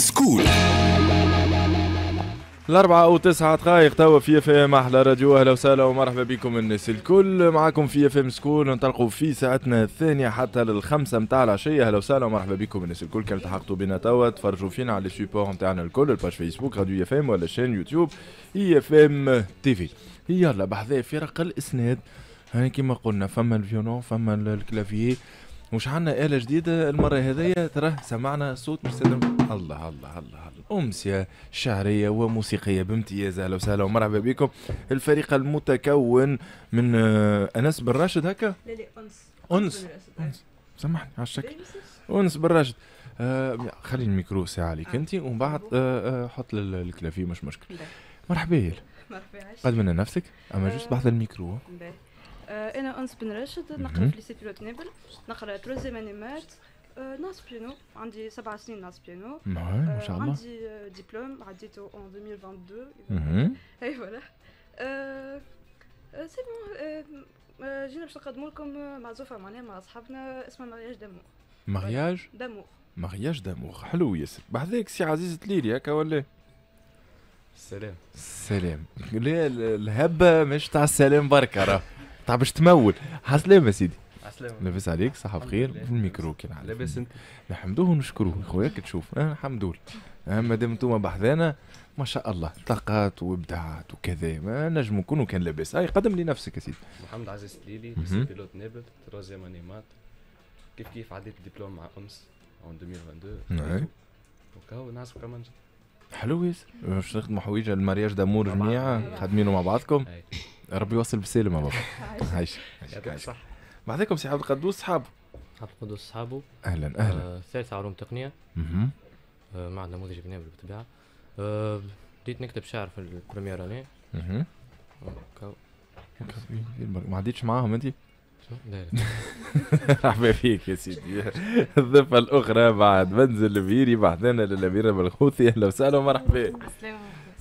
School. 4:09 توا في IFM احلى راديو. اهلا وسهلا ومرحبا بكم الناس الكل، معاكم في IFM School. ننطلقوا في ساعتنا الثانية حتى لل5 متاع العشيه. اهلا وسهلا ومرحبا بكم الناس الكل، كان التحقتوا بنا توا تفرجوا فينا على les supports نتاعنا الكل، ال page Facebook راديو IFM ولا chaîne YouTube IFM TV. يلا بحذا فرق الاسناد، هاني كيما قلنا فما ال violon فما ال clavier، وش عندنا آلة جديدة المرة هذيا. ترى سمعنا صوت مش الله الله الله الله، أمسية شعرية وموسيقية بامتياز. أهلا وسهلا ومرحبا بكم. الفريق المتكون من أنس بن راشد هكا؟ لا لا أنس. أنس أنس، سامحني على الشكل. أنس بن راشد. خلي الميكرو ساعة عليك أنت ومن بعد حط ال clavier مش مشكل. مرحبا يا مرحبا. قدم لنا نفسك أما juste بحذا الميكرو. أنا أنس بن راشد، نقرا في lycée pilote نابل، نقرا troisième année maths، نعزف بيانو، عندي 7 سنين نعزف بيانو. ما شاء الله. عندي ديبلوم عديته en 2022. اي voilà c'est bon. جينا باش نقدموا لكم معزوفة معناها مع أصحابنا اسمها mariage d'amour. mariage d'amour. mariage d'amour، حلو ياسر. بحذاك سي عزيز تليلي هكا ولا؟ السلام. السلام. لا الهبة مش تاع السلام بركة راه تاع باش تمول. عسلامة سيدي. عسلامة. لاباس عليك؟ صحة بخير. في الميكرو كي العادة. لاباس انت؟ نحمدوه ونشكروه خويا كي تشوف. الحمد لله. مادام انتوما بحذانا ما شاء الله طاقات وابداعات وكذا، ما نجمو نكونوا كان لاباس. هاي قدم لي نفسك يا سيدي. محمد عزيز تليلي، lycée pilote نابل، troisième année maths. كيف كيف عديت الدبلوم مع أنس en 2022. وكاو نعزف كمان. حلو ياسر. باش نخدموا حويجه ال mariage d'amour جميعا خادمينه مع بعضكم. ربي يوصل بالسلامة بابا. عايش يعطيك الصحة. بعدكم سي عبد القدوس صحابه. عبد القدوس صحابه. اهلا اهلا. ثالثة علوم تقنية. مع نموذج بنابل بالطبيعة. بديت نكتب شعر في ال première année. ما عديتش معاهم انت؟ لا لا. مرحبا فيك يا سيدي. الضفة الأخرى بعد منزل البيري بعدنا للأميرة بالخوثي. أهلا وسهلا ومرحبا.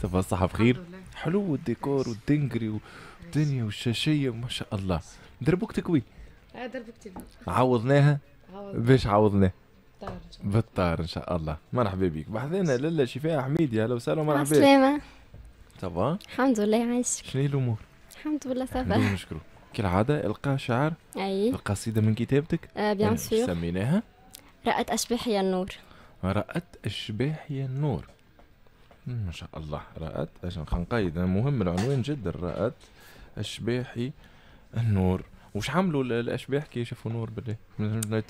ça va الصحة بخير. حلو الديكور والدنجري والدنيا والشاشية ما شاء الله. دربوكتك وين؟ دربوكتي عوضناها؟ باش عوضناها؟ بالطار إن شاء الله. مرحبا بك. بحذانا لاله شفاء حميدي. أهلا وسهلا ومرحبا. السلامة. ça va؟ الحمد لله عايشك. شنو هي الأمور؟ الحمد لله ça va. نشكرو. كالعادة إلقاء شعر. أي. القصيدة من كتابتك؟ bien sûr. سميناها؟ رأت أشباحي النور. رأت أشباحي النور. ما شاء الله. رأت، عشان خنقيد مهم العنوان جدا. رأت أشباحي النور. وش عملوا الأشباح كي شافوا نور بالله؟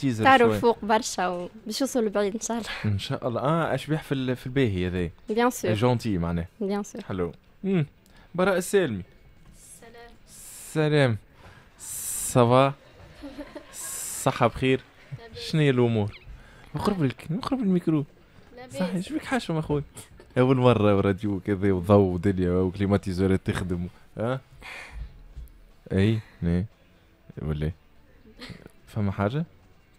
teaser طاروا فوق برشا وباش يوصلوا بعيد إن شاء الله. إن شاء الله. أشباح في الباهي هذا. bien sûr. gentil معناه. bien sûr. حلو. براء السالمي. السلام. سلام. ça va؟ صحة بخير. شنو هي الأمور؟ نقرب لك، نقرب الميكرو. صحيح، ايش بك حاشم أخوي؟ أول مرة راديو كذا وضوء ودنيا و climatiseur ات تخدم. ها؟ أي ني ولا فما حاجة؟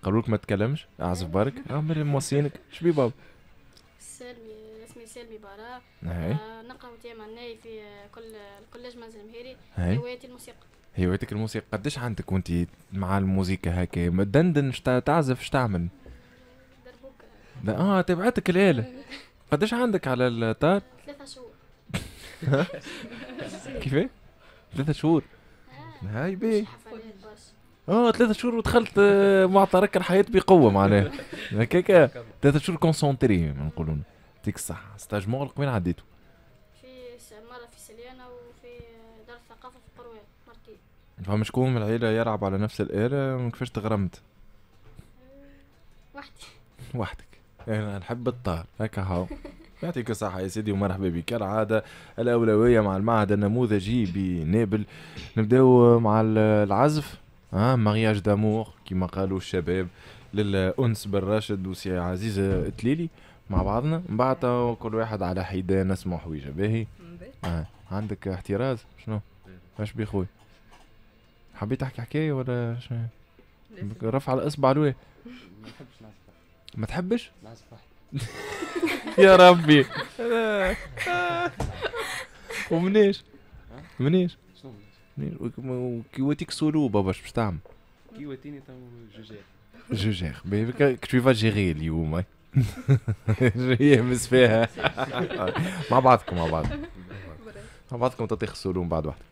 قالوا لك ما تكلمش، أعزف بارك، أعمل موصينك، شبي بابا؟ سالمي، اسمي سالمي براء. نقرا وتيما في كل ال collège منزل مهيري. هوايتي الموسيقى. هوايتك الموسيقى. قداش عندك وانت مع الموسيقى هكا؟ ما تدندن، تعزف، اش تعمل؟ دربوكة. تبعتك الآلة. قداش عندك على الطار؟ 3 شهور. كيفاه؟ 3 شهور. هاي بي. 3 شهور ودخلت معترك الحياة بقوة معناها. هكاكا 3 شهور concentré نقولوا. يعطيك الصحة. stage مغلق وين عديتو؟ في مرة في سليانة وفي دار الثقافة في قروان مرتين. فما شكون من العيلة يلعب على نفس الآلة؟ كيفاش تغرمت؟ وحدي. وحدك. أنا نحب الطار هكا هاو. يعطيك الصحة يا سيدي ومرحبا بك. كالعادة الأولوية مع المعهد النموذجي بنابل. نبداو مع العزف. mariage d'amour كما قالوا الشباب للأنس بن راشد وسي عزيز التليلي مع بعضنا. من بعد كل واحد على حدة نسمع حويجة باهي. عندك احتراز شنو؟ اش بي خويا؟ حبيت تحكي حكاية ولا شنو؟ رفع الإصبع لوين؟ ما نحبش نعزف. ما تحبش؟ نعزف وحدي. يا ربي. ومنيش؟ منيش؟ شنو منيش؟ كي واتيك سولو بابا باش تعمل؟ كي واتيني تو je gère. je gère. tu vas gérer اليوم. يهمس فيها. مع بعضكم مع بعض مع بعضكم تطيخ السلوم بعد واحدة.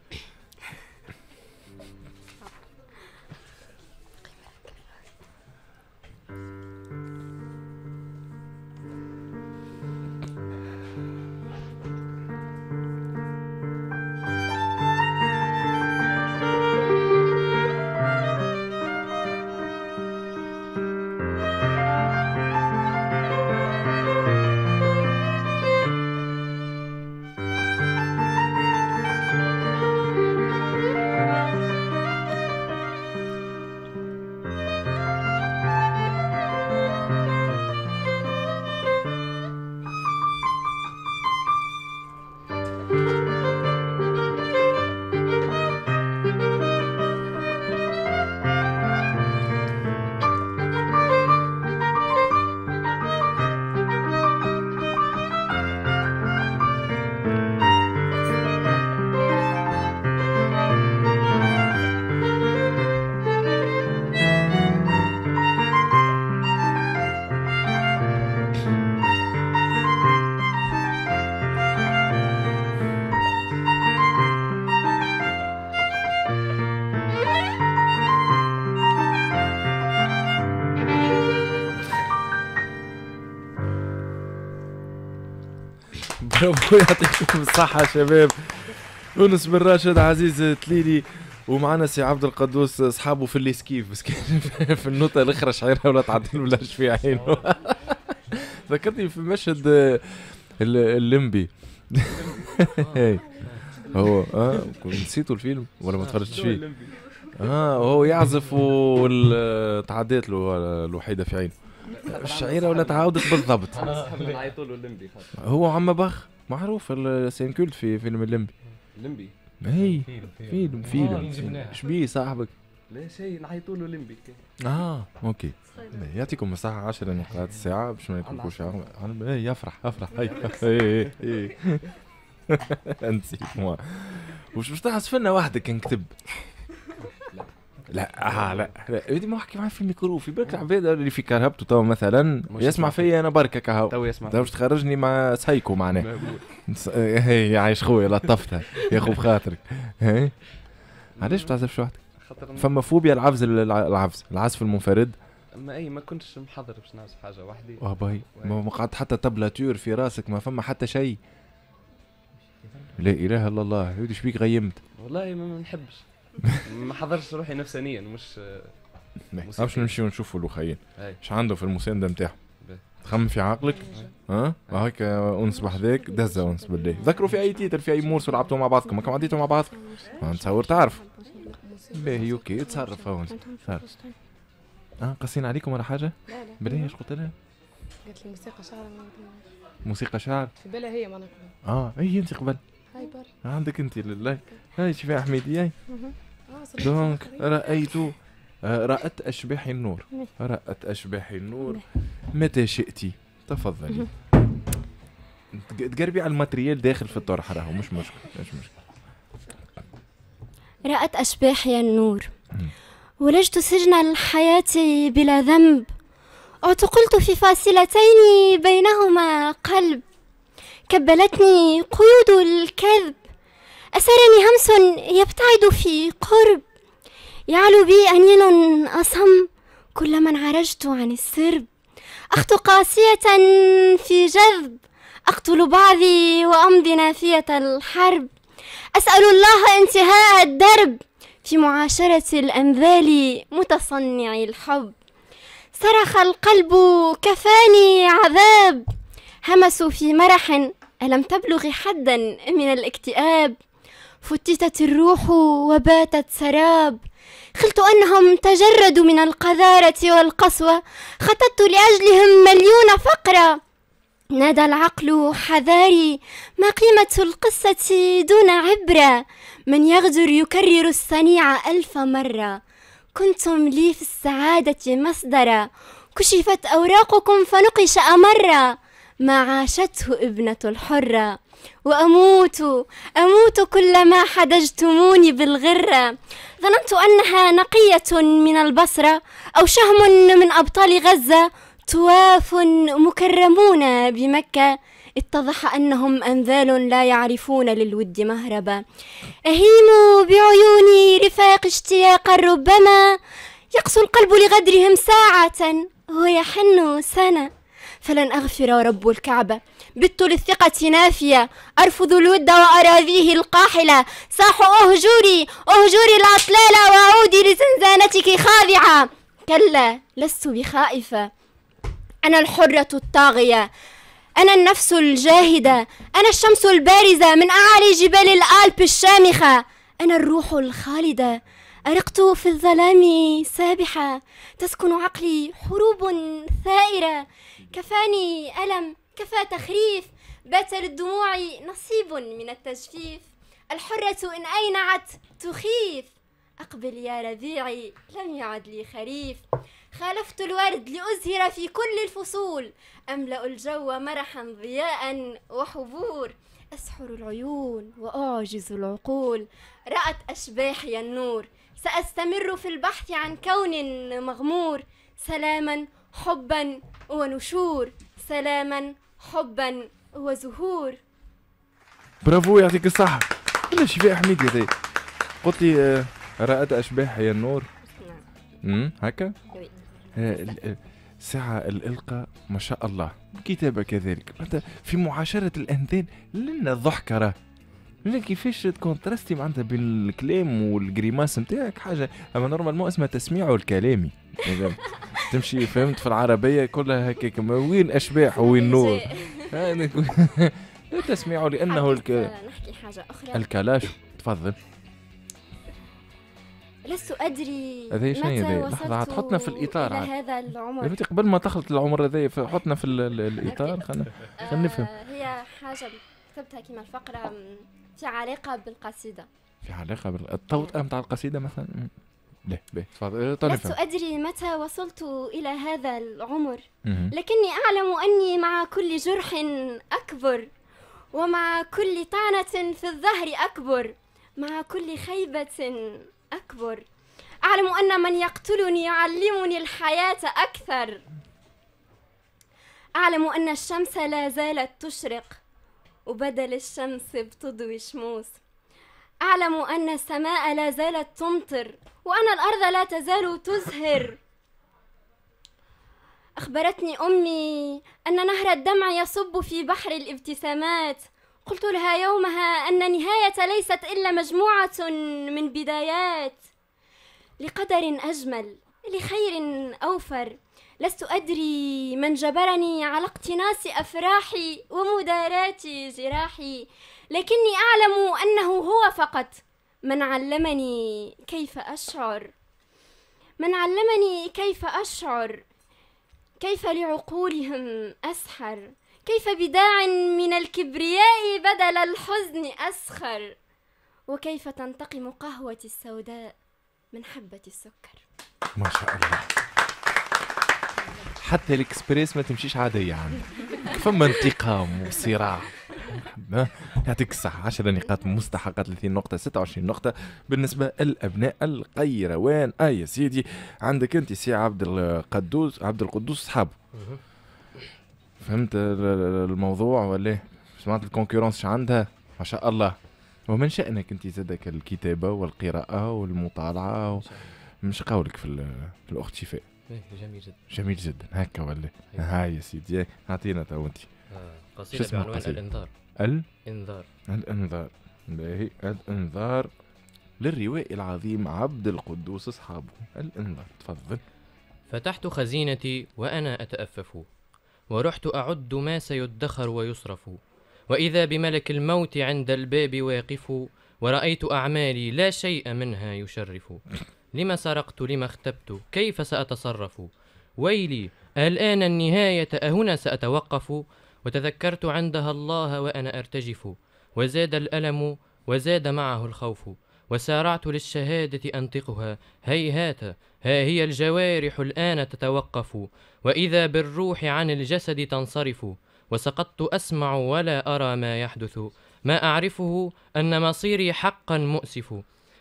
برافو، يعطيكم الصحة شباب. يونس بن راشد، عزيز تليلي، ومعنا سي عبد القدوس اصحابه في ال esquive، بس كان في النوتة الاخرى شعيرها ولا تعدل ولاش في عينه. ذكرتني في مشهد الليمبي. هو نسيتوا الفيلم ولا ما تفرجتش فيه؟ هو يعزف وتعديت له الوحيدة في عينه الشعيرة ولا تعاودت بالضبط. نعيطوا له الليمبي خاطر هو عم بخ معروف ال scène culte في فيلم الليمبي. الليمبي اي فيلم فيلم شبيه صاحبك؟ لا شيء، نعيطوا له الليمبي. OK، يعطيكم الصحة. 10 نقاط الساعة باش ما ياكلكوش. يفرح افرح. اي اي نسيت moi. وش باش تعزف لنا وحدك نكتب؟ لا لا لا بدي ما احكي معاه في الميكرو، في بالك العباد اللي في كرهبته تو مثلا يسمع فيا انا بركة كهو تو يسمع، تو باش تخرجني مع سايكو معناه. هي عايش خويا لطفتها يا خو بخاطرك. هي علاش ما تعزفش وحدك؟ فما فوبيا العفز، العفز العزف المنفرد. ما اي ما كنتش محضر باش نعزف حاجة وحدي. باي ما قعدت حتى tablature في راسك، ما فما حتى شيء. لا اله الا الله، يا شبيك غيمت؟ والله ما نحبش، ما حضرش روحي نفسانيا. مش باش نمشيو نشوفوا الاخيين اش عنده في المساندة نتاعهم. تخمم في عقلك ها هاك انس بحذاك دزه انس بالله. ذكروا في اي titre في اي morceau لعبتوا مع بعضكم، ما عديتوا مع بعضكم نتصور تعرف. باهي OK تصرف انس. قاسين عليكم ولا حاجة؟ لا لا بالله. اش قلت لها؟ قالت لي موسيقى شعر. موسيقى شعر في بالها هي معناها قبل. اي انت قبل هاي بر عندك انت لله. هاي شوفي حميدي. هاي donc رأيت رأت أشباح النور، رأت أشباح النور متى شئتي تفضلي. تقربي على ال matériel داخل في الطرح راهو مش مشكل، مش مشكل. رأت أشباحي النور، ولجت سجن الحياة بلا ذنب، اعتقلت في فاصلتين بينهما قلب، كبلتني قيود الكذب، أسرني همس يبتعد في قرب، يعلو بي أنين أصم كلما انعرجت عن السرب، أخطو قاسية في جذب، أقتل بعضي وأمضي نافية الحرب، أسأل الله انتهاء الدرب في معاشرة الأنذال متصنعي الحب، صرخ القلب كفاني عذاب، همسوا في مرح ألم تبلغ حدا من الاكتئاب، فتتت الروح وباتت سراب، خلت أنهم تجردوا من القذارة والقسوة، خططت لأجلهم مليون فقرة، نادى العقل حذاري، ما قيمة القصة دون عبرة، من يغدر يكرر الصنيع 1000 مرة، كنتم لي في السعادة مصدرا، كشفت أوراقكم فنقش أمرا، ما عاشته ابنة الحرة، وأموت أموت كلما حدجتموني بالغرة، ظننت أنها نقية من البصرة أو شهم من أبطال غزة، طواف مكرمون بمكة، اتضح أنهم أنذال لا يعرفون للود مهربا. أهيم بعيوني رفاق اشتياقا، ربما يقسو القلب لغدرهم ساعة ويحن سنة. فلن أغفر ورب الكعبة، بت للثقة نافية، أرفض الود وأراضيه القاحلة. صاح أهجري أهجري الأطلال وعودي لزنزانتك خاضعة. كلا، لست بخائفة، أنا الحرة الطاغية، أنا النفس الجاهدة، أنا الشمس البارزة من أعالي جبال الألب الشامخة، أنا الروح الخالدة، أرقت في الظلام سابحة، تسكن عقلي حروب ثائرة. كفاني ألم، كفى تخريف، بات للدموع نصيب من التجفيف. الحرة إن أينعت تخيف، أقبل يا ربيعي لم يعد لي خريف. خالفت الورد لأزهر في كل الفصول، أملأ الجو مرحا ضياء وحبور. أسحر العيون وأعجز العقول، رأت أشباحي النور. سأستمر في البحث عن كون مغمور، سلاما حبا ونشور، سلاما حبا وزهور. برافو، يعطيك الصحة. ولا شفاء حميدي هذي قلت لي رأت أشباحي النور. نعم. هكا؟ ساعة الإلقاء ما شاء الله، الكتابة كذلك، في معاشرة الأنذال لنا الضحكة راه، لنا كيفاش ت contraster معناتها بين الكلام وال grimace نتاعك حاجة، أما normalement اسمها تسميع الكلامي تمشي فهمت في العربية كلها هكاك، وين أشباح وين نور. لا تسميع لأنه نحكي حاجة أخرى. الكلاش تفضل. لست أدري متى وصلت حطنا في الإطار إلى هذا العمر. قبل ما تخلط العمر هذا حطنا في الإطار خلينا نفهم. هي حاجة كتبتها كما الفقرة في علاقة بالقصيدة. في علاقة بالتوطئة نتاع القصيدة مثلا. لا باهي تفضل. لست أدري متى وصلت إلى هذا العمر، لكني أعلم أني مع كل جرح أكبر، ومع كل طعنة في الظهر أكبر، مع كل خيبة أكبر. أعلم أن من يقتلني يعلمني الحياة أكثر. أعلم أن الشمس لا زالت تشرق، وبدل الشمس بتضوي شموس. أعلم أن السماء لا زالت تمطر، وأن الأرض لا تزال تزهر. أخبرتني أمي أن نهر الدمع يصب في بحر الابتسامات. قلت لها يومها أن النهاية ليست إلا مجموعة من بدايات، لقدر أجمل، لخير أوفر. لست أدري من جبرني على اقتناص أفراحي ومداراة جراحي، لكني أعلم أنه هو فقط من علمني كيف أشعر، من علمني كيف أشعر، كيف لعقولهم أسحر، كيف بداع من الكبرياء بدل الحزن أسخر، وكيف تنتقم قهوتي السوداء من حبة السكر. ما شاء الله، حتى الإكسبريس ما تمشيش عادية عندك، فما انتقام وصراع. يعطيك الصحة. 10 نقاط مستحقة، 30 نقطة، 26 نقطة بالنسبة للأبناء القيروان. يا سيدي عندك أنت سي عبد القدوس، عبد القدوس صحابه. فهمت الموضوع ولا؟ سمعت ال concurrence عندها ما شاء الله. ومن شأنك أنت زادك الكتابة والقراءة والمطالعة مش قولك في الأخت شفاء. جميل جدا، جميل جدا هكا ولا؟ هاي يا سيدي اعطينا تو انت قصيدة بعنوان الإنذار. الإنذار. الإنذار. باهي، الإنذار للروائي العظيم عبد القدوس أصحابه. الإنذار، تفضل. فتحت خزينتي وأنا أتأفف، ورحت أعد ما سيدخر ويصرف، وإذا بملك الموت عند الباب واقف، ورأيت أعمالي لا شيء منها يشرف. لما سرقت، لما اختبت، كيف سأتصرف؟ ويلي، الآن النهاية، أهنا سأتوقف؟ وتذكرت عندها الله وأنا أرتجف، وزاد الألم وزاد معه الخوف، وسارعت للشهادة أنطقها، هيهات، ها هي الجوارح الآن تتوقف، وإذا بالروح عن الجسد تنصرف، وسقطت أسمع ولا أرى ما يحدث، ما أعرفه أن مصيري حقا مؤسف،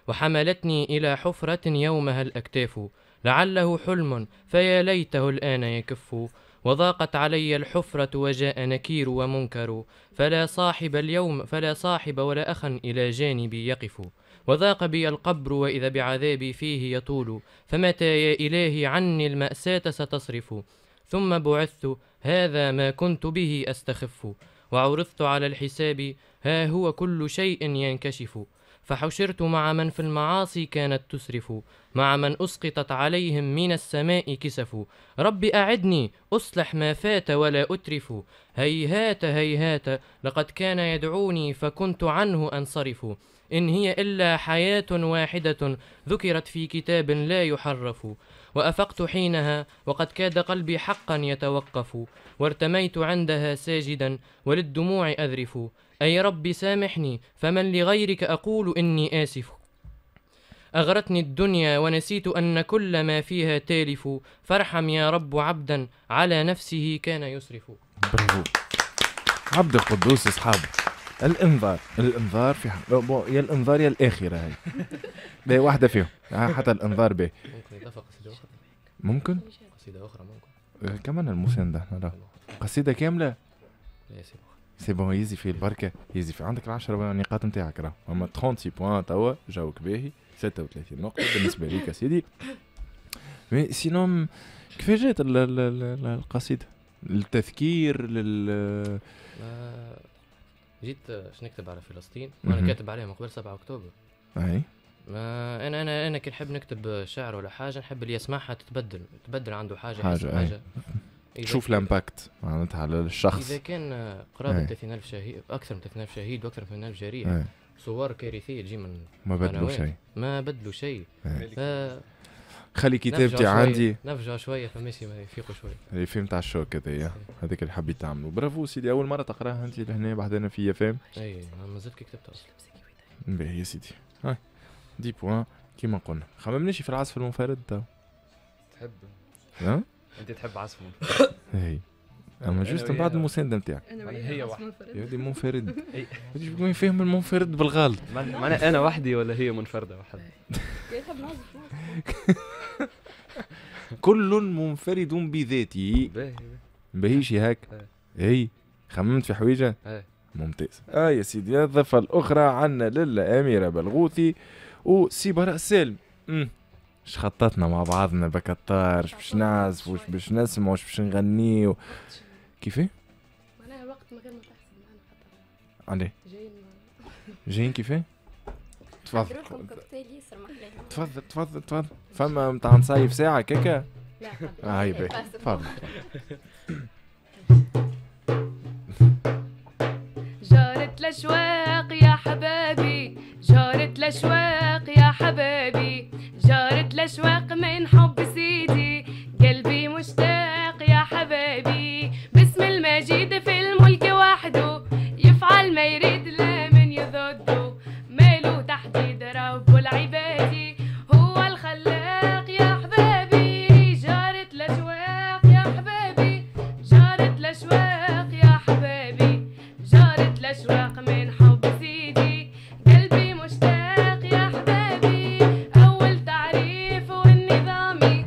وحملتني إلى حفرة يومها الأكتاف، لعله حلم فيا ليته الآن يكف، وضاقت علي الحفرة وجاء نكير ومنكر، فلا صاحب اليوم فلا صاحب ولا أخا إلى جانبي يقف، وضاق بي القبر وإذا بعذابي فيه يطول، فمتى يا إلهي عني المأساة ستصرف؟ ثم بعثت هذا ما كنت به أستخف، وعرضت على الحساب ها هو كل شيء ينكشف، فحشرت مع من في المعاصي كانت تسرف، مع من أسقطت عليهم من السماء كسف، رب أعدني أصلح ما فات ولا أترف، هيهات هيهات لقد كان يدعوني فكنت عنه أنصرف، إن هي إلا حياة واحدة ذكرت في كتاب لا يحرف، وأفقت حينها وقد كاد قلبي حقا يتوقف، وارتميت عندها ساجدا وللدموع أذرف، أي رب سامحني فمن لغيرك أقول إني آسف، أغرتني الدنيا ونسيت أن كل ما فيها تالف، فارحم يا رب عبدا على نفسه كان يسرف. برافو عبد القدوس. أصحابه الانذار، الانذار في يا الانذار يا الاخرة، هاي باهي واحدة فيهم حتى الانذار باهي. ممكن اضافه قصيدة اخرى؟ ممكن قصيدة اخرى، ممكن كمان المساندة احنا قصيدة كاملة. لا c'est bon c'est bon، يزي في البركة، يزي في عندك 10 نقاط نتاعك راه اما 36 points توا جاوك باهي 36 نقطة بالنسبة ليك يا سيدي. mais sinon كيفاش جات القصيدة؟ التذكير لل جيت باش نكتب على فلسطين وانا كاتب عليها من قبل 7 اكتوبر. اي ما انا انا انا كي نحب نكتب شعر ولا حاجة نحب اللي يسمعها تتبدل عنده حاجة. تشوف l'impact معناتها على الشخص. اذا كان قرابة 30000 شهيد، اكثر من 30000 شهيد واكثر من 8000 جريح، صور كارثية تجي من ما بدلوا شيء، ما بدلوا شيء. خلي كتابتي عندي نفجع شوية فماشي ما يفيقوا شوية. اللي فهمت على ال choc هذايا، هذاك اللي حبيت تعمله. برافو سيدي، اول مرة تقراها انت لهنا بعدنا في فهم. اي مازلت كي كتبتها اصلا. باهي يا سيدي، هاي dix points كيما قلنا. خممناش في العزف المنفرد تو. تحب؟ ها؟ انت تحب عزف منفرد؟ اي اما juste من بعد المساندة نتاعك. هي واحدة يا ودي منفرد. يا فاهم المنفرد بالغلط. معناها انا وحدي ولا هي منفردة وحدها؟ كل منفرد بذاته. باهيش هاك. اي خممت في حويجه؟ ممتاز. يا سيدي الضفة الاخرى عندنا للا اميره بلغوثي وسي براء سالم. اش خططنا مع بعضنا بكتار، اش باش نعزف واش باش نسمع واش باش نغنيو كيفاه؟ معناها وقت من غير ما تحسب معنا خاطر عليه جايين كيفاه؟ تفضل تفضل تفضل تفضل. فما نتاع نصيف ساعة كيكا؟ لا هاي باهي تفضل. جارة الأشواق يا حبابي، جارة الأشواق يا حبابي، جارة الأشواق من حب سيدي، قلبي مشتاق يا حبابي، باسم المجيد في الملك وحده، يفعل ما يريد لا من يضده، ماله تحديد رب العباد، هو الخلاق يا حبابي، جارة الأشواق يا حبابي، جارة الأشواق يا حبابي، جارة الأشواق من حب سيدي، قلبي مشتاق يا حبابي، أول تعريف والنظامي،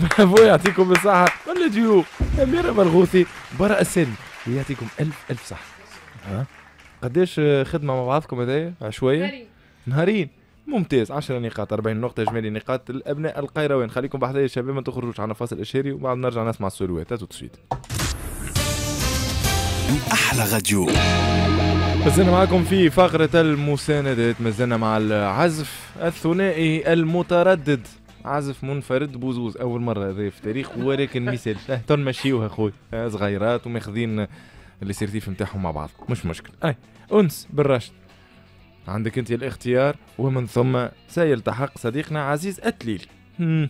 برافو يعطيكم الصحة. ولا ديو أميرة برغوثي براء السالمي يعطيكم ألف ألف صحة. ها قداش خدمة مع بعضكم هذايا؟ عشوية؟ نهارين. ممتاز. 10 نقاط 40 نقطة إجمالي نقاط الأبناء القيروان. خليكم بحذايا يا شباب ما تخرجوش، عندنا فاصل إشهاري وبعد نرجع نسمع السولوات. tout de suite. أحلى راديو. مازلنا معكم في فقرة المساندات، مازلنا مع العزف الثنائي المتردد، عزف منفرد بوزوز أول مرة هذا في التاريخ، ولكن مثال تنمشيوها خويا، صغيرات وماخذين les certifs نتاعهم مع بعض، مش مشكل. أي أنس بالراشد عندك أنت الاختيار، ومن ثم سيلتحق صديقنا عزيز التليل.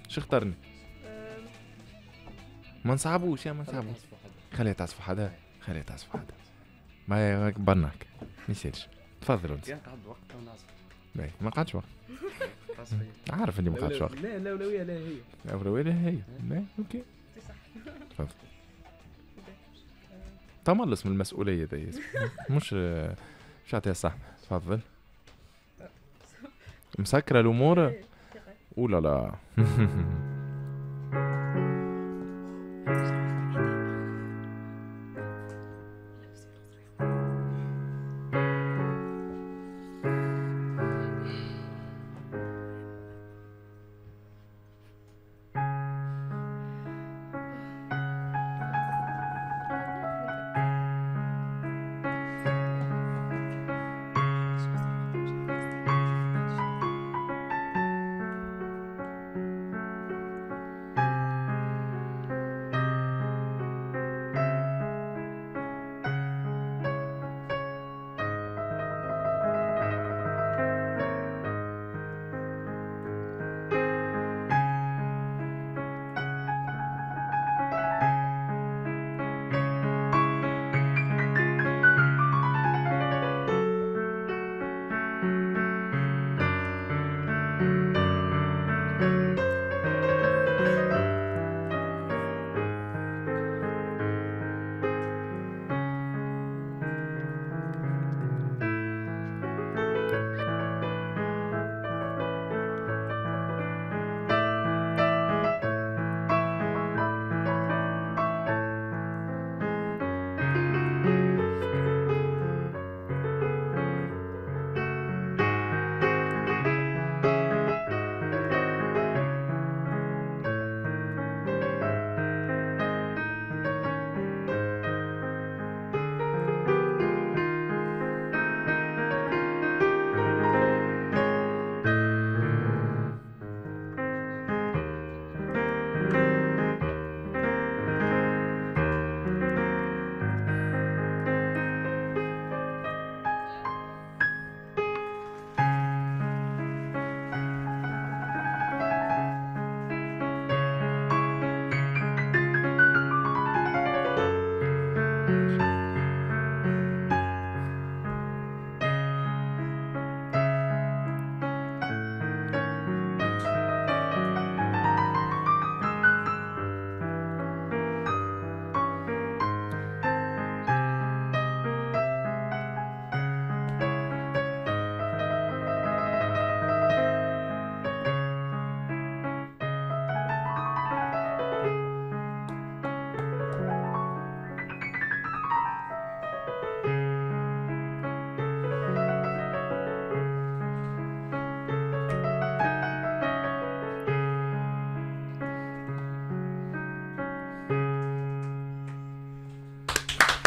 شو اخترني؟ ما نصعبوش يا ما نصعبوش، خليها تعزف وحدها، خليها تعزف وحدها، ما برناك ما يصيرش. تفضل انت. كان قعد وقت ونعزف. باهي ما قعدش وقت. عارف اني ما قعدش وقت. لا الاولوية لا هي. الاولوية لا هي. لا OK. تفضل. تملص من المسؤولية ذي مش مش عطيها صح. تفضل. مسكره الامور؟ اولا لا.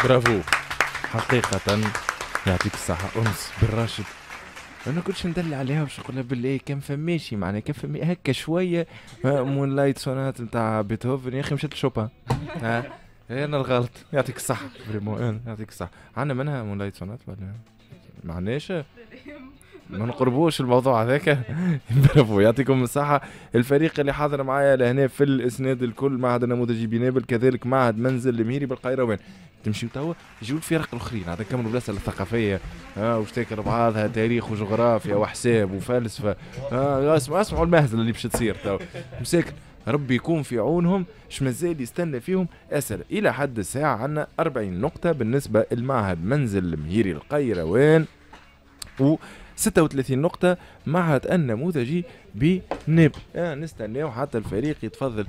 برافو حقيقة يعطيك الصحة أنس بالراشد. أنا كنتش ندل عليها باش نقول لها بالله كان فماشي معناها كان فمي هكا شوية Moonlight Sonata نتاع بيتهوفن يا أخي مشيت لشوبان. ها أنا الغلط. يعطيك الصحة vraiment يعطيك الصحة. عندنا منها Moonlight Sonata ولا ما عندناش؟ ما نقربوش الموضوع هذاك. برافو يعطيكم الصحة. الفريق اللي حاضر معايا لهنا في الإسناد الكل، معهد النموذجي بنابل، كذلك معهد منزل المهيري بالقيروان. تمشيو توا يجيو الفرق الاخرين عاد نكملوا بلاصة الثقافية واش تاكل بعضها تاريخ وجغرافيا وحساب وفلسفة. اسمعوا المهزلة اللي باش تصير توا مساكن، ربي يكون في عونهم. اش مازال يستنى فيهم اسئلة. الى حد الساعة عندنا 40 نقطة بالنسبة لمعهد منزل المهيري القيروان، و 36 نقطة معهد النموذجي بنابل. نستناو حتى الفريق يتفضل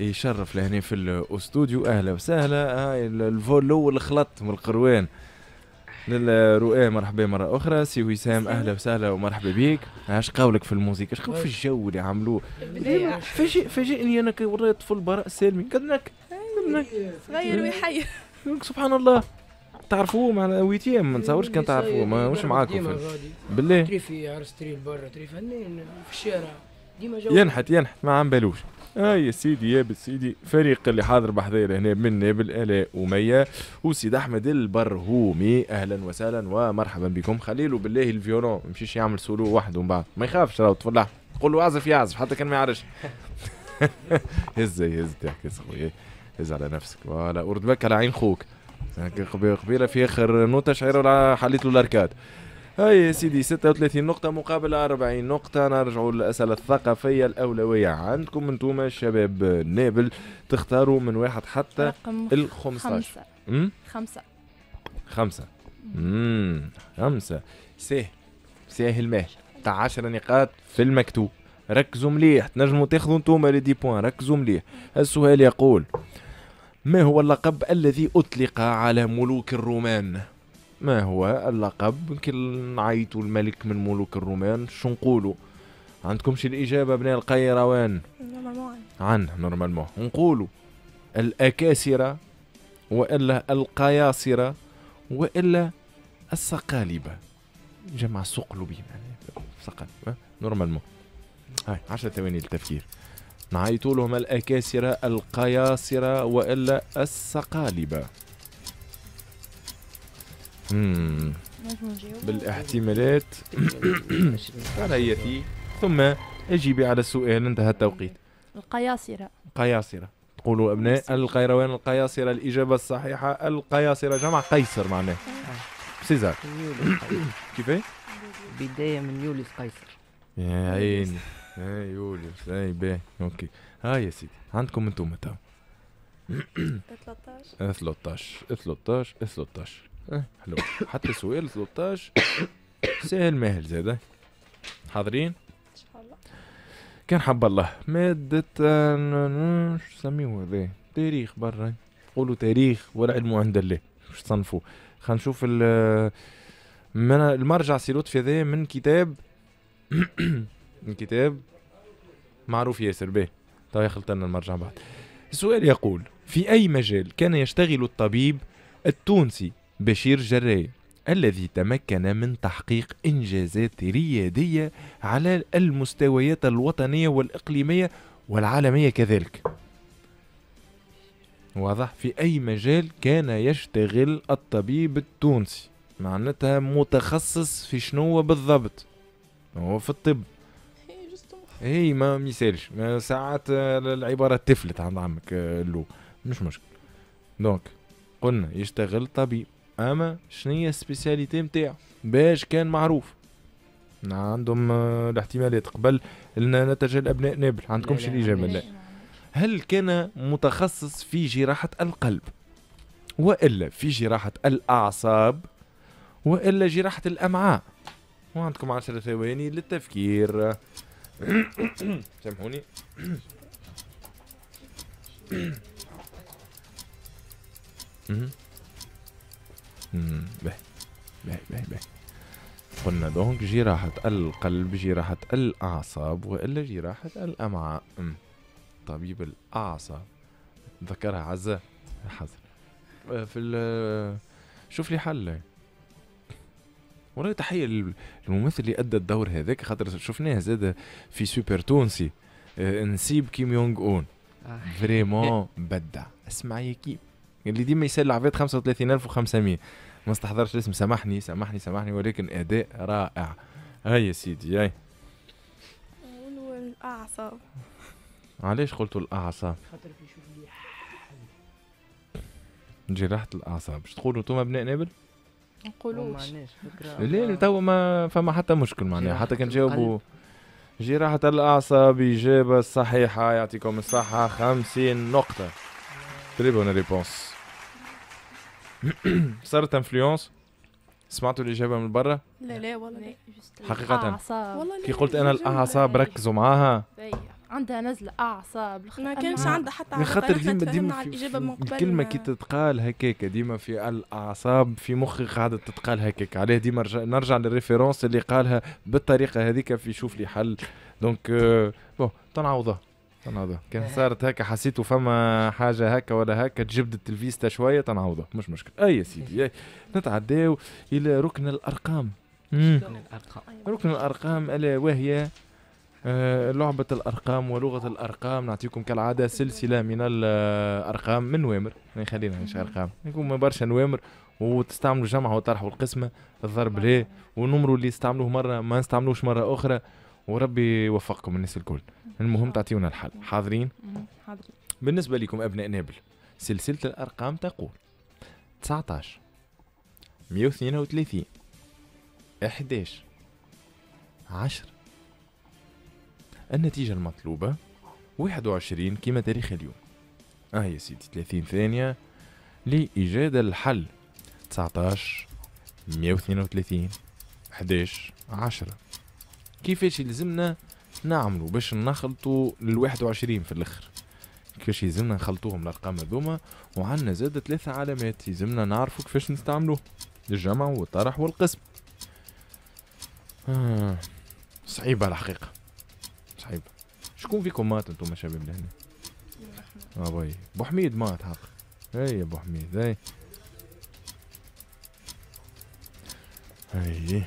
يشرف لهنا في الاستوديو. اهلا وسهلا. هاي ال vol الاول خلط من القروان للرؤى. مرحبا مرة اخرى سي وسام، اهلا وسهلا ومرحبا بيك. اش قولك في الموسيقى؟ اش قولك في الجو اللي عملوه؟ فاجئني انا كي وريت طفل براء السالمي قدنك صغير ويحير. سبحان الله. تعرفوه مع huitième؟ ما نتصورش كان تعرفوه، ماهوش معاكم بالله. تري في عرس، تري برا، تري فنان في الشارع ديما جو ينحت ما عم بالوش. هاي يا سيدي يا سيدي، فريق اللي حاضر بحذايا هنا من نابل آلاء ومية وسيد احمد البرهومي. اهلا وسهلا ومرحبا بكم. خليلو بالله ال violon ما يمشيش يعمل سولو وحده من بعد، ما يخافش راهو طفل، قول له اعزف يعزف حتى كان ما يعرفش. هز هز تحكي خويا، هز على نفسك voilà، ورد بالك على عين خوك. قبيلة في اخر نوته شعيرة حليت له ال arcade. هاي يا سيدي 36 نقطة مقابل 40 نقطة. نرجعوا للأسئلة الثقافية الأولوية عندكم انتوما الشباب نابل، تختاروا من واحد حتى ال 15. خمسة. خمسة. خمسة. ساهل ساهل ماهل تاع 10 نقاط في المكتوب. ركزوا مليح، تنجموا تاخذوا انتوما les dix points. ركزوا مليح. السؤال يقول: ما هو اللقب الذي أطلق على ملوك الرومان؟ ما هو اللقب؟ كي نعيطوا الملك من ملوك الرومان شو نقولوا؟ عندكم شي الإجابة أبناء القيروان؟ normalement عن normalement نقولوا الأكاسرة وإلا القياصرة وإلا الصقالبة، جمع صقلبي معناها صقلبة normalement. هاي 10 ثواني للتفكير. نعيطوا لهم الأكاسرة، القياصرة وإلا الصقالبة. بالاحتمالات على ثم اجيبي على السؤال. انتهى التوقيت. القياصرة. قياصرة تقولوا ابناء القيروان القياصرة. الإجابة الصحيحة القياصرة، جمع قيصر معناه سيزار. كيفاه؟ بداية من يوليوس قيصر. يا عيني يا يوليوس. اي باهي OK. هاي يا سيدي عندكم انتم تو 13 13 13. حلو. حتى سؤال 13 سهل ماهل زاده. حاضرين؟ ان شاء الله. كان حب الله. مادة شو سميوه هذا؟ تاريخ برا، قولوا تاريخ والعلم عند الله. شو تصنفوا؟ خلينا نشوف المرجع سي لطفي هذا من كتاب من كتاب معروف ياسر به. طيب يخلط لنا المرجع بعد. السؤال يقول: في أي مجال كان يشتغل الطبيب التونسي بشير جراي الذي تمكن من تحقيق إنجازات ريادية على المستويات الوطنية والإقليمية والعالمية كذلك؟ واضح؟ في أي مجال كان يشتغل الطبيب التونسي؟ معناتها متخصص في شنو بالضبط؟ هو في الطب. اي ما يسالش، ساعات العبارة تفلت عند عمك لو مش مشكل. donc قلنا يشتغل طبيب، اما شنية ال spécialité نتاعو باش كان معروف؟ عندهم الاحتمالات قبل نتج الابناء نابل. عندكم شي الاجابة؟ لا. هل كان متخصص في جراحه القلب والا في جراحه الاعصاب والا جراحه الامعاء؟ وعندكم 10 ثواني للتفكير. سامحوني. باهي باهي باهي باهي. قلنا donc جراحة القلب، جراحة الأعصاب وإلا جراحة الأمعاء. طبيب الأعصاب ذكرها عزة حزن في شوف لي حل. والله تحية للممثل اللي أدى الدور هذاك، خاطر شفناه زاد في سوبر تونسي نسيب كيم يونغ أون. vraiment بدع. اسمع يا كيم اللي ديما يسال عباد 35500 ما استحضرش الاسم، سامحني سامحني سامحني، ولكن اداء رائع. هاي يا سيدي. هاي نقولوا الاعصاب. علاش قلتوا الاعصاب؟ خاطر يشوف لي جراحة الاعصاب. باش تقولوا انتم ابناء نابل؟ نقولوش. لا تو ما فما حتى مشكل معناها، حتى كان جاوبوا جراحة الاعصاب اجابة صحيحة. يعطيكم الصحة، 50 نقطة. très bonne réponse. صارت influence؟ سمعتوا الإجابة من برا؟ لا لا والله لا. حقيقة كي قلت أنا الأعصاب ركزوا معاها. عندها نزله اعصاب. ما كانش عندها حتى علاقة، خاطر ديما على الاجابة من قبل. الكلمة كي تتقال هكاك ديما في الاعصاب في مخي قاعدة تتقال هكاك، عليه ديما نرجع لل référence اللي قالها بالطريقة هذيك في شوف لي حل. donc bon تنعوضها كان صارت هكا حسيتوا فما حاجة هكا ولا هكا تجبدت الفيستا شوية تنعوضها، مش مشكل. اي يا سيدي نتعداو الى ركن الارقام. ركن الارقام الا وهي لعبة الأرقام ولغة الأرقام. نعطيكم كالعادة سلسلة من الأرقام من نوامر، خلينا مش أرقام، يكون برشا نوامر، وتستعملوا الجمع والطرح والقسمة، الضرب ليه، والنمر اللي يستعملوه مرة ما نستعملوش مرة أخرى، وربي يوفقكم الناس الكل. المهم تعطيونا الحل. حاضرين؟ حاضرين. بالنسبة لكم أبناء نابل، سلسلة الأرقام تقول 19 132 11 10. النتيجة المطلوبة 21 كما تاريخ اليوم. يا سيدي 30 ثانية لإيجاد الحل. 19 132 11 10. كيفاش يلزمنا نعملوا باش نخلطوا لل 21 في الاخر؟ كيفاش يلزمنا نخلطوهم الارقام هذوما؟ وعندنا زاد 3 علامات يلزمنا نعرفوا كيفاش نستعملوه، الجمع والطرح والقسم. صعيبة الحقيقة، صعيبة. شكون فيكم مات انتم شباب لهنا؟ باي بو حميد مات حق. اي يا بو حميد، اي اي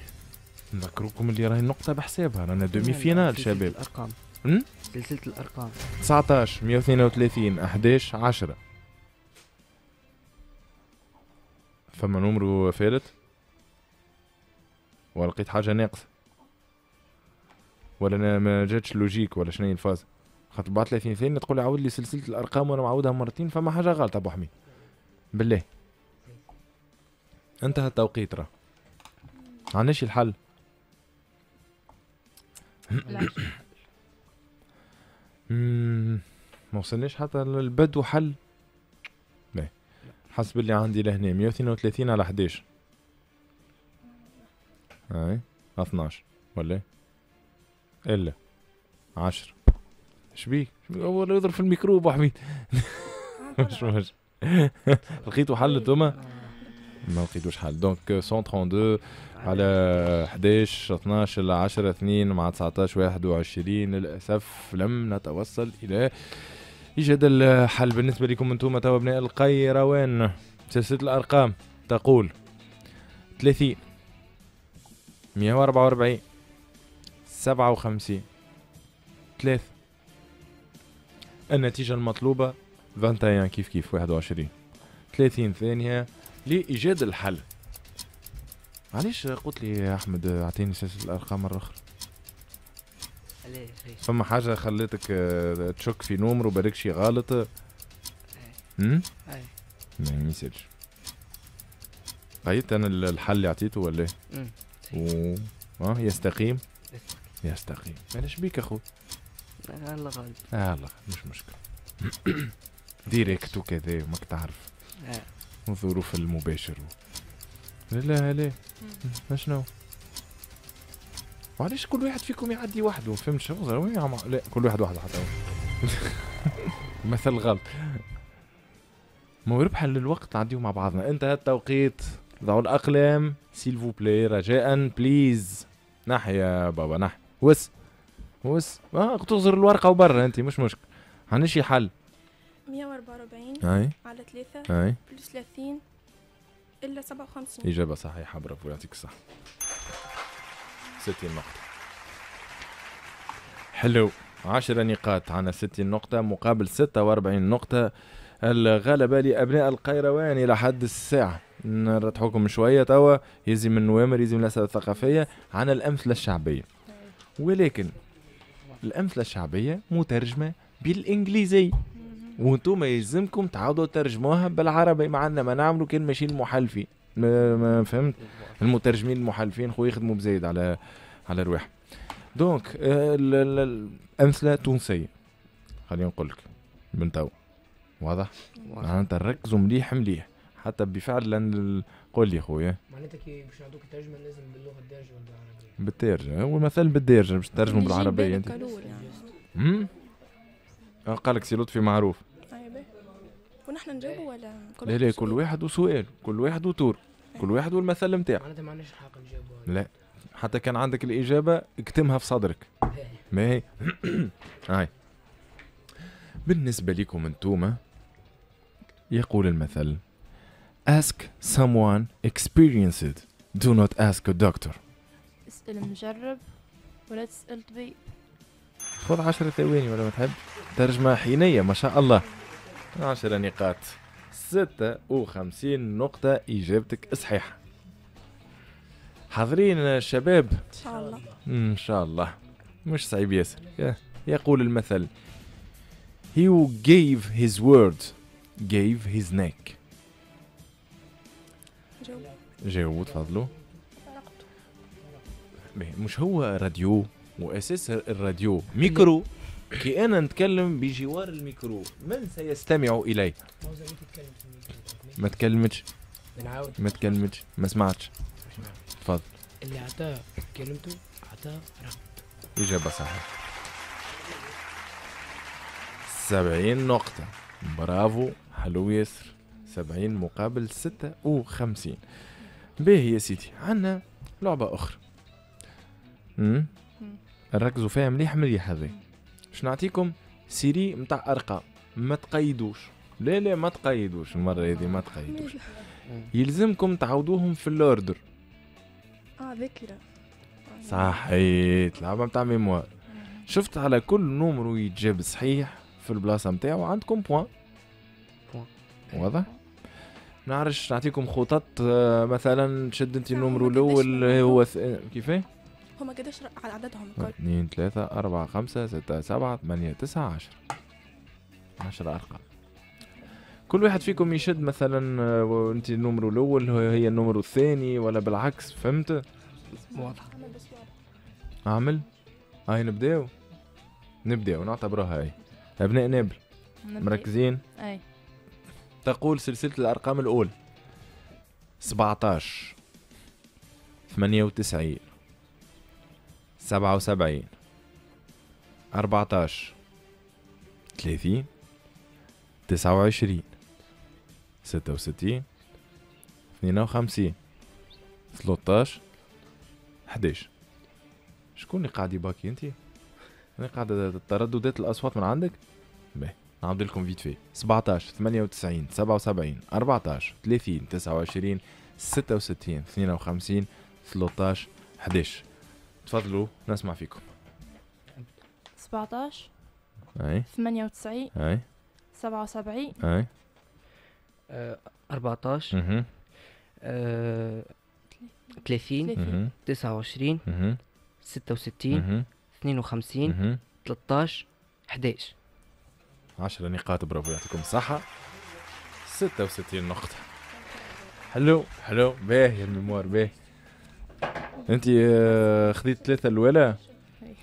نذكركم اللي راهي النقطة بحسابها، رانا demi-finale شباب. الأرقام. سلسلة الأرقام 19 132 11 10. فما numéro فالت ولا لقيت حاجة ناقصة ولا أنا ما جاتش logique ولا شنو هي الفاز؟ خاطر بعد 30 ثانية تقول عاود لي سلسلة الأرقام وأنا معاودها مرتين، فما حاجة غلط أبو حميد. بالله انتهى التوقيت، راه عندناش الحل. ما وصلناش حتى للبدو حل. باهي حسب اللي عندي لهنا 132 على 11 اي 12 ولا الا 10. شبيك هو اللي يضرب في الميكرو ابو حميد. مش مش لقيتوا حل انتوما؟ ما لقيتوش حل. donc 132 على 11 12 10 2 مع 19 21. للاسف لم نتوصل الى ايجاد الحل. بالنسبة لكم انتم توا ابناء القيروان، سلسلة الارقام تقول 30 144 57 3. النتيجة المطلوبة 21 كيف كيف 21. 30 ثانية لإيجاد الحل. علاش قلت لي يا أحمد أعطيني سلسلة الأرقام مرة أخرى؟ علاش؟ فما حاجة خلتك تشك في numéro بالك شي غلط؟ اي ما يسالش. قيدت أنا الحل اللي عطيته ولا إيه؟ يستقيم؟ يستقيم. علاش بيك أخوي؟ الله غالب. الله غالب مش مشكلة. direct وكذا وماك تعرف. الظروف المباشر. لا لا لا شنو؟ وعلاش كل واحد فيكم يعدي وحده؟ فهمت شنو؟ لا كل واحد وحده حتى مثل غلط. ما ربحا للوقت نعديو مع بعضنا. انتهى التوقيت، ضعوا الاقلام s'il vous plaît رجاء please. نحي يا بابا نحي. وس وس تغزر الورقة وبرا انت مش مشكل. عندنا شي حل. 144 على 3 plus 30 إلا 57. إجابة صحيحة، برافو يعطيك الصحة. 60 نقطة. حلو، 10 نقاط عنا 60 نقطة مقابل 46 نقطة. الغلبة لأبناء القيروان إلى حد الساعة. نرتحوكم شوية توا، يزي من النوامر، يزي من الأسئلة الثقافية. عنا الأمثلة الشعبية، ولكن الأمثلة الشعبية مترجمة بالإنجليزي وانتم يلزمكم تعاودوا ترجموها بالعربي. ما عندنا ما نعملوا كان ماشيين المحلفين، ما فهمت؟ المترجمين المحلفين خو يخدموا بزايد على رواحهم. donc الامثلة تونسية خلينا نقول لك من تو، واضح؟ معناتها ركزوا مليح مليح حتى بفعل. قول لي خويا معناتها كي باش نعطوك الترجمة لازم باللغة الدارجة ولا بالعربية؟ بالدارجة، هو مثل بالدارجة باش ترجموا بالعربية انت. قال لك سي لطفي معروف. اي ونحن نجاوبوا ولا كل لا لا، كل واحد وسؤال، كل واحد و tour، كل واحد والمثل نتاعو. معناتها ما عندناش الحق نجاوبوا. لا، حتى كان عندك الإجابة اكتمها في صدرك. ما هي هاي بالنسبة لكم انتوما، يقول المثل ask someone experienced do not ask a doctor. اسأل مجرب ولا تسأل طبيب. خذ 10 ثواني ولا ما تحب. ترجمة حينية ما شاء الله. 10 نقاط، 56 نقطة، إجابتك صحيحة. حاضرين الشباب؟ إن شاء الله. إن شاء الله، مش صعيب ياسر. يقول المثل He who gave his word gave his neck. جاوبوا تفضلوا. مش هو راديو، وأساس الراديو ميكرو. كي أنا نتكلم بجوار الميكرو من سيستمع إلي؟ ما تكلمتش، ما تكلمتش، ما سمعتش. تفضل. اللي عطاه كلمته عطاه رقبته. إجابة صحيحة. 70 نقطة، برافو، حلو ياسر. 70 مقابل 56. باهي يا سيدي، عندنا لعبة أخرى. ركزوا فيها مليح مليح هذه. باش نعطيكم série نتاع أرقام، ما تقيدوش. لا لا ما تقيدوش المرة هذه، ما تقيدوش. يلزمكم تعاودوهم في ال ordre. ذاكرة. صحيت، لعبة نتاع mémoire. شفت على كل numéro يتجاب صحيح في البلاصة نتاعو عندكم point. واضح؟ نعرفش نعطيكم خطط، مثلا تشد انت ال numéro الاول هو كيفاه؟ هما قداش عددهم الكل؟ 2 3 4 5 6 7 8 9 10. 10 ارقام. كل واحد فيكم يشد مثلا انت ال numéro الاول هي ال numéro الثاني ولا بالعكس، فهمت؟ واضح. اعمل؟ هاي نبداو؟ نبداو نعتبروها هاي. ابناء نابل مركزين؟ اي. تقول سلسلة الأرقام الأولى 17 98 77 14 30 29 66 52 13 11. شكون اللي قاعد يباكي انت؟ انا قاعد ترددات الأصوات من عندك؟ باهي نعاود لكم vite fait. 17 98 77 14 30 29 66 52 13 11. تفضلوا نسمع فيكم. 17 اي 98 اي 77 اي 14 30 29 66 52 13 11. 10 نقاط، برافو يعطيكم الصحة. 66 نقطة. حلو حلو، باهي ال mémoire باهي. انت خذيت 3 الأولى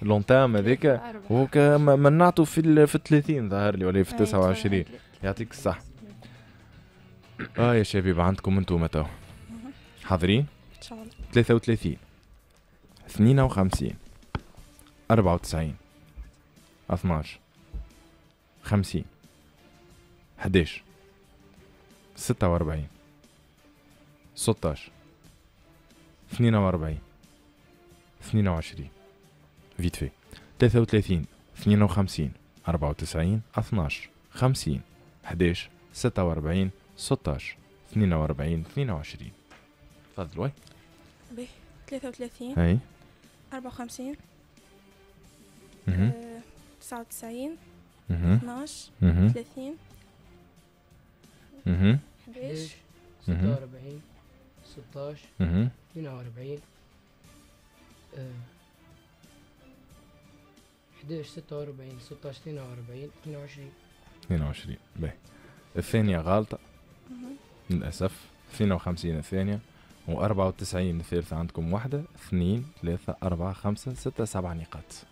l'entame هذيك ومنعته في 30 ظهر لي ولا في 29. يعطيك الصحة. يا شباب عندكم انتم تو حاضرين؟ ان شاء الله. 33 52 94 12 50 11 46 16 42 22. vite fait. 33 52 94 12 50 11 46 16 42 22. تفضلوا. باهي. 33 اي 54 99 12 30 11 46 16 42 11 46 16 42 22. 22. باهي. الثانية غالطة للأسف. 52 الثانية و94 الثالثة. عندكم 1 2 3 4 5 6 7 نقاط.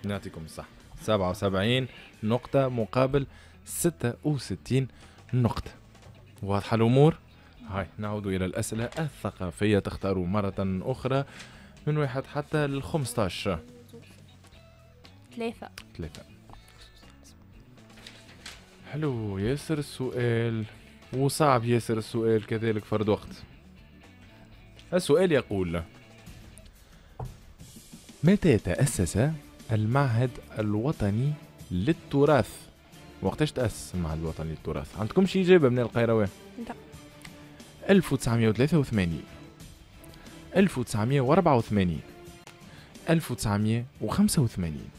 نعطيكم الصح. 77 نقطة مقابل 66 نقطة. واضحة الأمور؟ هاي نعود إلى الأسئلة الثقافية. تختاروا مرة أخرى من 1 حتى 15. 3. 3. حلو ياسر السؤال وصعب ياسر السؤال كذلك فرد وقت. السؤال يقول: متى تأسس المعهد الوطني للتراث؟ وقتاش تأسس المعهد الوطني للتراث؟ عندكم شي إجابة من القيروان؟ لا. 1983، 1984، 1985.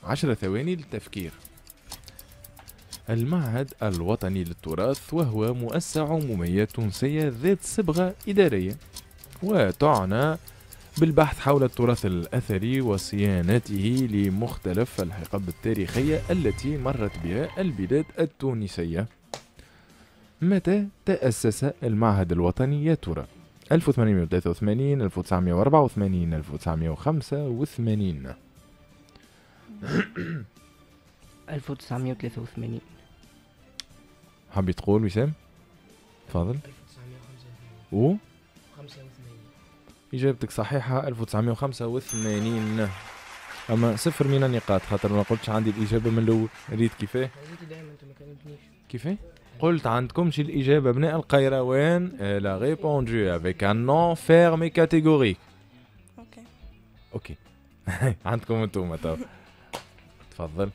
10 ثواني للتفكير. المعهد الوطني للتراث وهو مؤسسة عمومية تونسية ذات صبغة إدارية، وتعنى بالبحث حول التراث الأثري وصيانته لمختلف الحقب التاريخية التي مرت بها البلاد التونسية. متى تأسس المعهد الوطني يا ترى؟ 1883، 1984، 1985. 1983. حبي تقول وسام؟ تفضل. 1985. و 85. إجابتك صحيحة، 1985. أما صفر من النقاط خاطر ما قلتش عندي الإجابة من الأول. ريت كيفاه؟ دائما أنت ما كلمتنيش. كيفاه؟ قلت عندكمش الإجابة. أبناء القيروان elle a répondu avec un non ferme et catégorique. OK OK. عندكم انتوما تو. تفضل.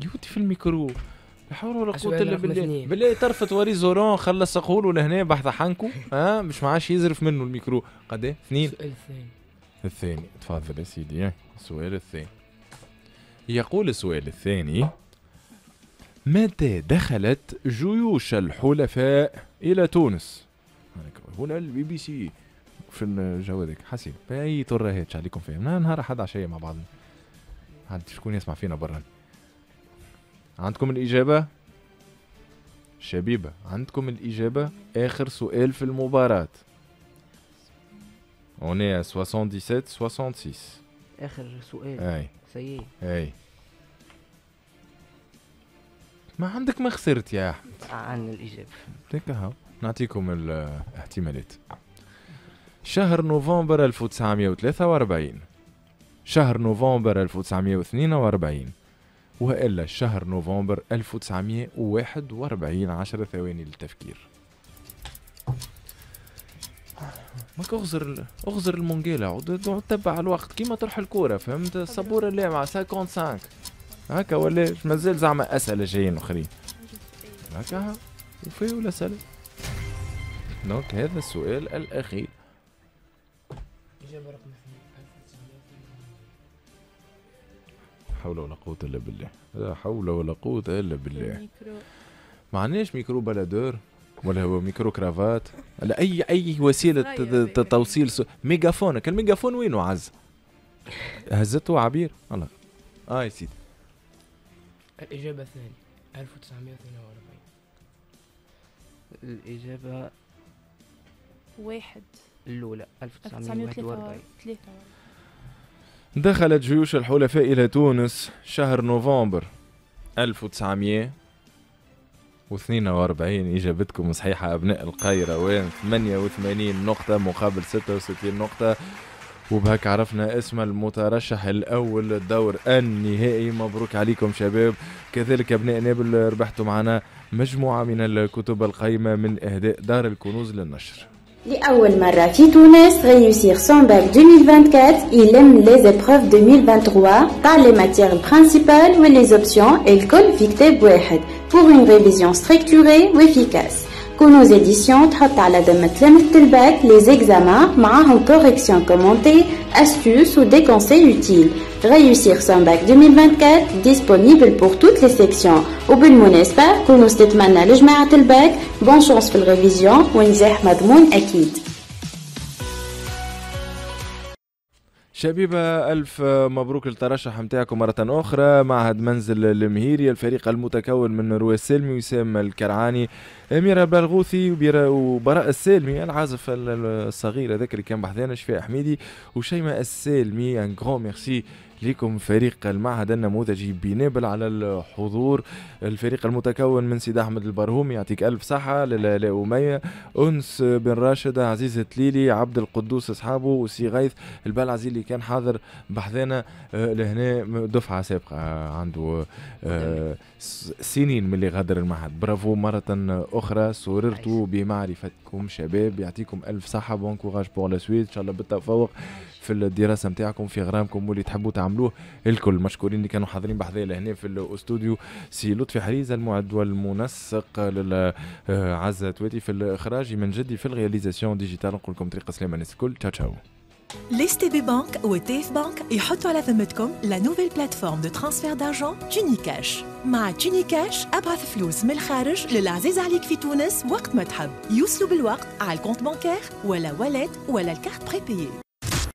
يوتي في الميكرو. لا حول ولا قوة إلا بالله. بالله طرفت وريزورون خلص قولوا لهنا بحث حنكو ها مش معاش يزرف منه الميكرو. قد ايه؟ اثنين. السؤال الثاني. الثاني تفضل يا سيدي. السؤال الثاني يقول السؤال الثاني: متى دخلت جيوش الحلفاء إلى تونس؟ هنا البي بي سي في الجو هذاك حسيب أي ترهات عليكم فيهم نهار أحد عشية مع بعضنا. عاد شكون يسمع فينا برا؟ عندكم الإجابة؟ شبيبة عندكم الإجابة؟ آخر سؤال في المباراة. On est à 77 66. آخر سؤال. أي. سيء. أي. ما عندك ما خسرت يا أحمد. عن الإجابة. هكا نعطيكم الاحتمالات. شهر نوفمبر 1943، شهر نوفمبر 1942، وإلا شهر نوفمبر 1941. 10 ثواني للتفكير. ماك اغزر المونجيلا عود تبع الوقت كيما تروح الكورة، فهمت؟ السبوره اللي مع 55 هكا ولا مازال زعما اسئلة جايين اخرين هكا وفي ولا سألة. donc هذا السؤال الاخير. اجابه رقم 2. لا حول ولا قوة الا بالله، لا حول ولا قوة الا بالله. ما عندناش micro baladeur ولا هو micro cravate ولا اي وسيلة توصيل mégaphone. ال mégaphone وينه عز؟ هزته عبير الله. يا سيدي. الاجابة الثانية 1942. الاجابة واحد الاولى 1941. دخلت جيوش الحلفاء الى تونس شهر نوفمبر 1942. إجابتكم صحيحة أبناء القيروان، 88 نقطة مقابل 66 نقطة. وبهك عرفنا اسم المترشح الأول للدور النهائي. مبروك عليكم شباب. كذلك أبناء نابل ربحتوا معنا مجموعة من الكتب القيمة من إهداء دار الكنوز للنشر. لأول مرة في تونس réussir son bac 2024 يلم les épreuves 2023 تاع les matières principales و les options الكل في كتاب واحد pour une révision structurée و efficace. كنوز édition تحط على ذمة تلامذة الباك les examens معاهم correction commentée, astuces ou des conseils utiles. Réussir son bac 2024 disponible pour toutes les sections. وبالمناسبة كنوز تتمنى لجماعة الباك bonne chance في ال révision ونجاح مضمون أكيد. شبيبة ألف مبروك للترشح متاعكم مرة أخرى. معهد منزل المهيري، الفريق المتكون من روى السالمي، وسام الكرعاني، أميرة بلغوثي، وبراء السالمي العازف الصغير هذاك اللي كان بحذانا، شفاء حميدي، وشيماء السالمي. un grand merci لكم فريق المعهد النموذجي بنابل على الحضور. الفريق المتكون من سيد احمد البرهومي يعطيك الف صحة، لاله امية، انس بن راشد، عزيز التليلي، عبد القدوس اصحابه، وسي غيث البلعزي اللي كان حاضر بحذانا لهنا دفعه سابقه عنده سنين من اللي غادر المعهد. برافو مرة اخرى، سررت بمعرفتكم شباب، يعطيكم الف صحة، bon courage pour la suite، ان شاء الله بالتفوق في الدراسة نتاعكم، في غرامكم واللي تحبوا تعملوه الكل. مشكورين اللي كانوا حاضرين بحذايا لهنا في الاستوديو، سي لطفي حريزه المعد والمنسق، عزة تواتي في الاخراج، من جدي في ال réalisation digitale. نقول لكم طريق سلامه الناس الكل، تشاو تشاو. Les STB Bank و TF Bank يحطوا على ذمتكم la nouvelle plateforme de transfert d'argent Tunicash. مع Tunicash ابعث فلوس من الخارج للعزيز عليك في تونس وقت ما تحب، يوصلوا بالوقت على ال compte bancaire ولا wallet ولا ال carte prépayée.